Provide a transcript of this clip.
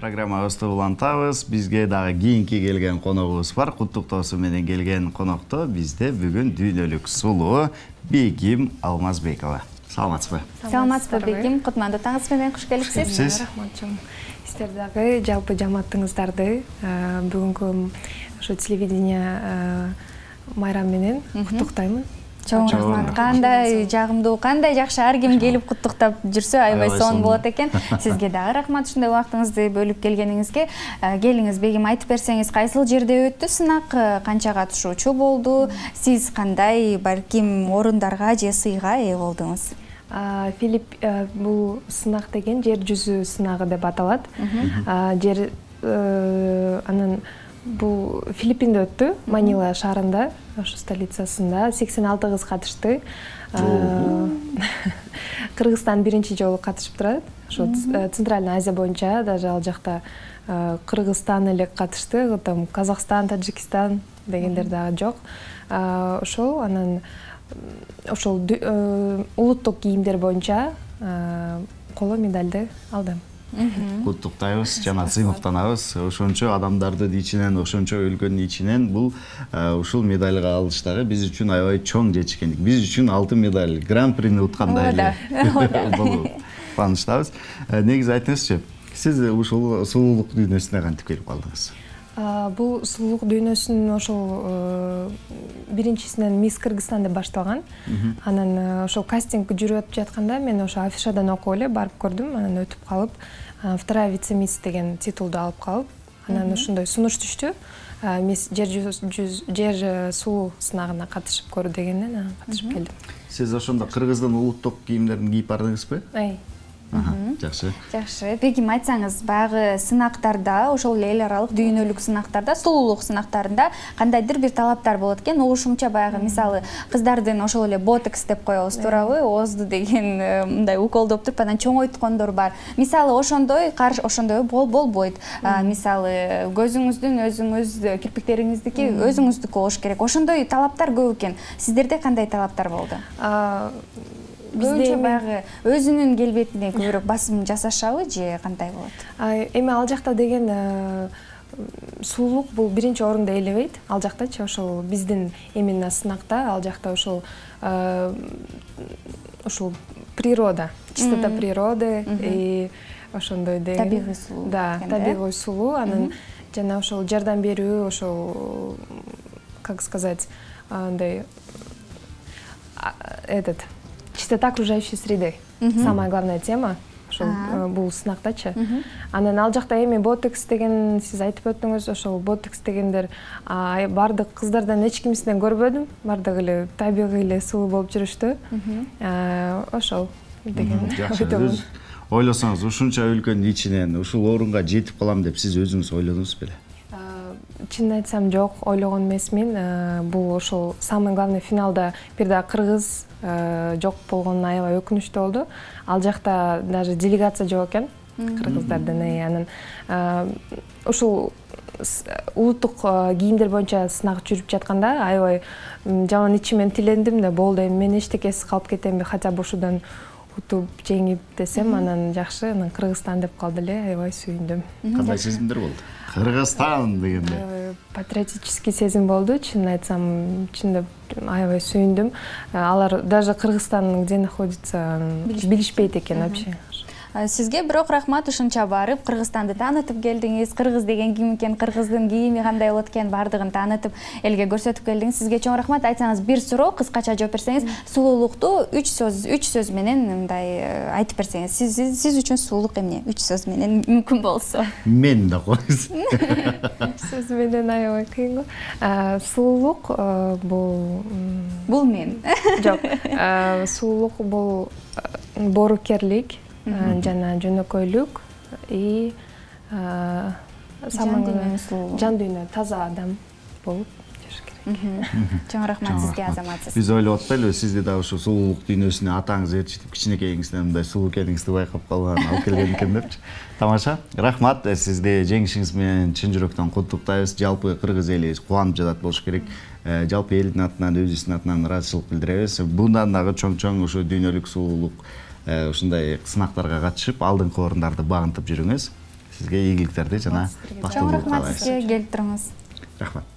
Программабызды улантабыз. Бизге дагы кийинки келген коногубуз бар. Куттуктоосу менен келген конокто бизде бүгүн дүйнөлүк сулуу Бегим Алмазбекова. Саламатсызбы? Саламатсызбы, Бегим. Кутмандуу таңыңыз менен куш келипсиз. Рахматчым. Сиздер дагы жалпы жамаатыңыздарды бүгүнкү ошо телевидение майрам менен куттуктаймын. Чоң рахмат. Кандай жагымдуу, кандай жакшы ар ким келип куттуктап жүрсө аябай сонун болот экен. Сизге дагы рахмат ушундай убактыңызды бөлүп келгениңизге. Келиңиз, Бегим, айтып берсеңиз, кайсыл жерде өттү сынак, канча катышуучу болду? Сиз кандай балким орундарга же сыйга ээ болдуңуз? Филипп, бул сынак деген жер жүзү сынагы деп аталат. Жер анан бул Филиппинде өттү, Манила шаарында, ошо столицасында 86 кыз катышты. Кыргызстан биринчи жолу катышып турат. Ошо Центральный Азия боюнча даже ал жакта Кыргызстан эле катышты, там Казакстан, Таджикистан дегендер дагы жок. Ошол анан ошол улуттук кийимдер боюнча коло медалды алдым. Куттуктайбыз жана сыймыктанабыз. Ошончо адамдардын ичинен, ошончо өлкөнүн ичинен бул ушул медальга алыш дагы биз үчүн аябай чоң жетишкендик. Биз үчүн алтын медаль, гран-прини уткандай эле болуп кубанычтабыз. Негизи айтыңызчы, сиз ушул сулуулук дүйнөсүнө кантип келип калдыңыз? Бул сулуулук дүйнөсүн ошол биринчисинен Мисс Кыргызстан деп башталган. Анан ошол кастинг жүрүп жатканда мен ошо афишадан окуп эле барып көрдүм, анан өтүп калып, вторая вице-мисс деген титулду алып калып, анан ошондой сунуш түштү. Мисс жер суу сынагына катышып көрүү дегенден катышып келдим. Сиз ошондо кыргыздын улуттук кийимдерин кийип бардыңызбы? Жакшы. Жакшы. Бегим, айтсаңыз, баягы сынактарда, ошол эл аралык дүйнөлүк сынактарда, сулуулук сынактарында кандайдыр бир талаптар болот экен. Угушумча баягы мисалы кыздардын ошол эле ботекс деп коебуз, туурабы? Оозду деген мындай уколдоп туруп анан чоңойткондор бар. Мисалы ошондой болбойт. Мисалы көзүңүздүн өзүңүз кирпиктериңиздики өзүңүздүкү болуш керек. Ошондой талаптар көп экен. Сиздерде кандай талаптар болду? Көбүнчө баягы өзүнүн келбетине көбүрөөк басым жасашабы же кандай болот? Эми ал жакта деген сулуулук бул биринчи орунду ээлебейт. Ал жактачы ошол биздин именно сынакта ал жакта ошол природа, чистота природы и ошондой деген табигый сулуу. Да, табигый сулуу, анан жана ошол жардам берүү, ошол как сказать, андай чистота окружающей среды. Самая главная тема ошол бул сынактачы. Анан ал жакта эми ботекс деген сиз айтып өттүңүз, ошол ботекс дегендер бардык кыздардан эч кимисинен көрбөдүм. Бардыгы эле табигый эле сулуу болуп жүрүштү. Ошол деген. Жакшы. Ойлосоңуз, ушунча өлкөнүн ичинен ушул орунга жетип калам деп сиз өзүңүз ойлодуңуз беле? Чынын айтсам жок, ойлогон эмесмин. Бул ошол самый главный финалда бир да кыргыз жок болгону аябай өкүнүчтүү болду. Ал жакта даже делегация жок экен кыргыздардан. Анан ушул улуттук кийимдер боюнча сынак жүрүп жатканда аябай жаман ичимен тилендим да, болду, эми мен эчтекесиз калып кетемби, хотя бы ушудан утуп жеңип десем, анан жакшы, анан Кыргызстан деп калды эле, аябай сүйүндүм. Кандай сезимдер болду? Кыргызстан дегенде. Патриотический сезим болду, чынын айтсам, чындап аябай сүйүндүм. Алар даже Кыргызстан где находится билишпейт экен вообще. Сизге бирок рахмат, ушунча барып Кыргызстанды таанытып келдиңиз. Кыргыз деген ким экен, кыргыздын кийими кандай болот экен, бардыгын таанытып элге көрсөтүп келдиңиз. Сизге чоң рахмат. Айтсаңыз, бир суроо кыскача жооп берсеңиз, сулуулукту 3 сөз менен мындай айтып берсеңиз. Сиз үчүн сулуулук эмне? 3 сөз менен мүмкүн болсо. Мен да коюңуз. 3 сөз менен аябай кыйын го. Сулуулук бул мен. Жок. Сулуулук бул боорукерлик, жана жөнөкөйлүк и жан дүйнө таза адам болуп жүрүш керек. Чоң рахмат сизге, азаматсыз. Биз ойлоп атпайлыбы, сизди да ушу сулуулук дүйнөсүнө атаңыз ээрчитип, кичинекейиңизден мындай сулуу экениңизди байкап калган, алып келген экен депчи. Тамаша. Рахмат, сизди жеңишиңиз менен чын жүрөктөн куттуктайбыз. Жалпы кыргыз эли кубанып жатат болуш керек. Жалпы элдин атынан, өзүбүздүн атынан ыраазычылык билдиребиз. Bundan дагы чоң ушу дүйнөлүк сулуулук ушундай сынактарга катышып, алдыңкы орундарды багынтып жүрүңүз. Сизге ийгиликтерди жана чоң бактылуулук рахмат каалайбыз. сизге келип туруңуз. Рахмат.